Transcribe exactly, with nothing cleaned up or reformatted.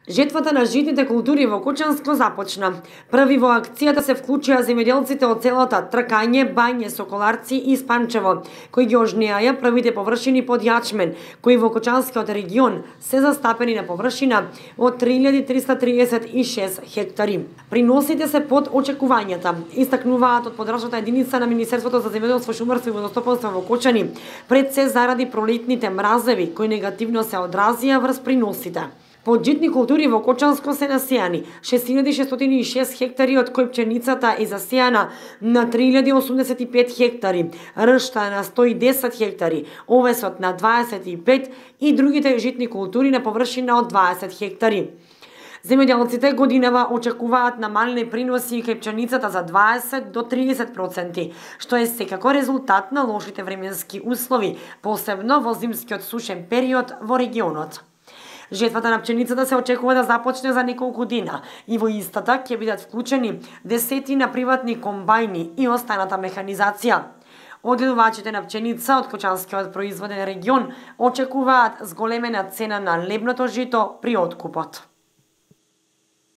Жетвата на житните култури во Кочанско започна. Први во акцијата се вклучија земјоделците од селата Тркање, Бање, Соколарци и Спанчево, кои ги ожнеаја првите површини под јачмен, кои во Кочанскиот регион се застапени на површина од три илјади триста триесет и шест хектари. Приносите се под очекувањата, истакнуваат од подрачната единица на Министерството за земјоделство, шумарство и водостопанство во Кочани, пред се заради пролетните мразеви, кои негативно се одразија врз приносите. Под житни култури во Кочанско се насејани шест илјади шестстотини и шест хектари, од кои пченицата е засејана на три илјади осумдесет и пет хектари, ршта на сто и десет хектари, овесот на дваесет и пет и другите житни култури на површина од дваесет хектари. Земјоделците годинава очекуваат намалени приноси кај пченицата за дваесет до триесет проценти, што е секако резултат на лошите временски услови, посебно во зимскиот сушен период во регионот. Жетвата на пченицата се очекува да започне за неколку дена и во истата ќе бидат вклучени десетина приватни комбајни и останата механизација. Одгледувачите на пченица од Кочанскиот производен регион очекуваат зголемена цена на лебното жито при откупот.